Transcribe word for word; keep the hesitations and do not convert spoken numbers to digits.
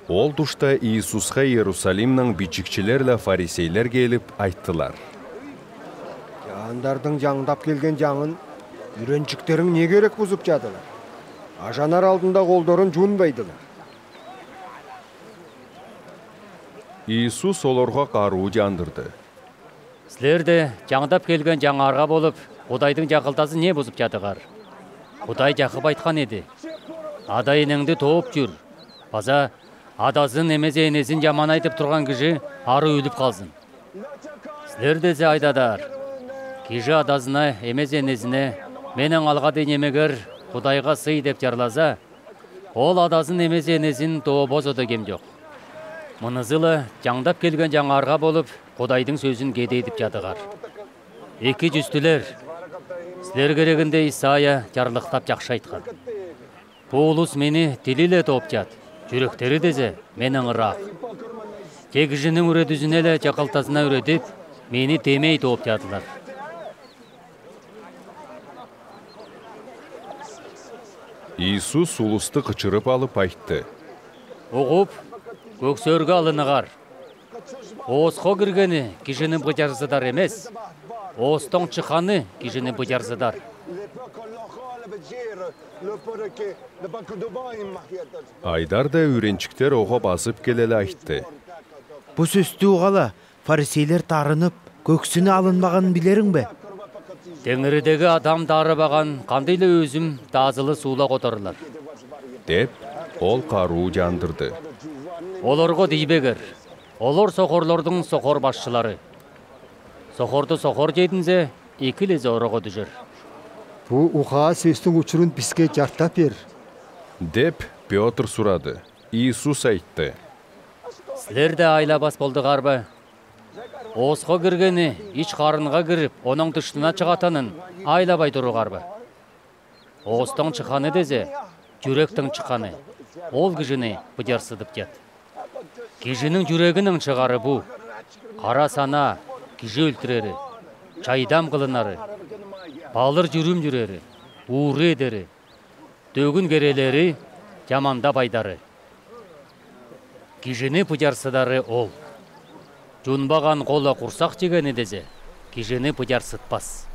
Ол тушта Иисусха Иерусалимнен бичикшилер ле фарисейлер келип айттылар: «Чаандардынъ чаңдап келген чаңын юренчиктеринъ не кирек бузуп чадылар? Ажанар алдында колдорун чуунбайдылар». Иисус олорга каруу чаандырды: «Силер де чаңдап келген чаңаарга болуп, Кудайдынъ чакылтазын не бузуп чадыгар? Кудай чагып айткан эди: „Ада-эненъди тооп чур“ база „Адазын, эмезин, энезин чаманай“ деп турган кижи ары оьлюп калзын. Силер дезе айдадар: кижи адазына, эмезин, энезине: „Меннен алга дейин немегер Кудайга сый“ деп чарласа, ол адазын, эмезин, энезин тообозо да кем чок. Мынызы ла чаңдап келген чаңаарга болуп, Кудайдынъ соьзин кедейдип чадыгар. Эки чустилер, силер керегинде Исаия чарлыктап чакшы айткан: „Бу улус мени тили ле тоопчат, чуректери дезе меннен ырак. Те кижининъ уьредизине ле чакылтазына уьредип, мени темей тоопчадылар“». Иисус улусту кычырып алып айтты: «Угуп, кёксоорга алыныгар. Ооско киргени кижини быдьарсыдар эмес, оостан чыкканы кижини быдьарсыдар». Айдар да юренчиктер ога басып келе ле айтты: «Бу соьстен уга ла фарисейлер тарынып, кёксүнү алынмаганын билериң бе?» «Теңиридеги Адам тарыбаган кандый ла оьзим таазылы суула котарылар», — деп, ол каруу чаандырды: «Оларга тийбегер. Олар сокарлардынъ сокар башчылары. Сокарды сокар чединзе, эки лезе орага туьшер». «Бу угаа соьстинъ учурун биске чартап бер», — деп, Пётр сурады. Иисус айтты: «Силер де айлабас болдугар ба? Ооско киргени ич карынга кирип, онынъ тыштына чыгатанын айлабай туругар ба? Оостан чыкканы дезе, чүректен чыкканы, ол кижини быдьарсытып чад. Кижининъ чүрегиннен чыгары бу: кара санаа, кижи оьлтирери, чайдам кылынары, балыр чурум чюрери, ууру эдери, төгүн керелери, чамандап айдары. Кижини быдьарсыдары ол. Чунбаган кола курсак чегени дезе, кижини быдьарсытпас.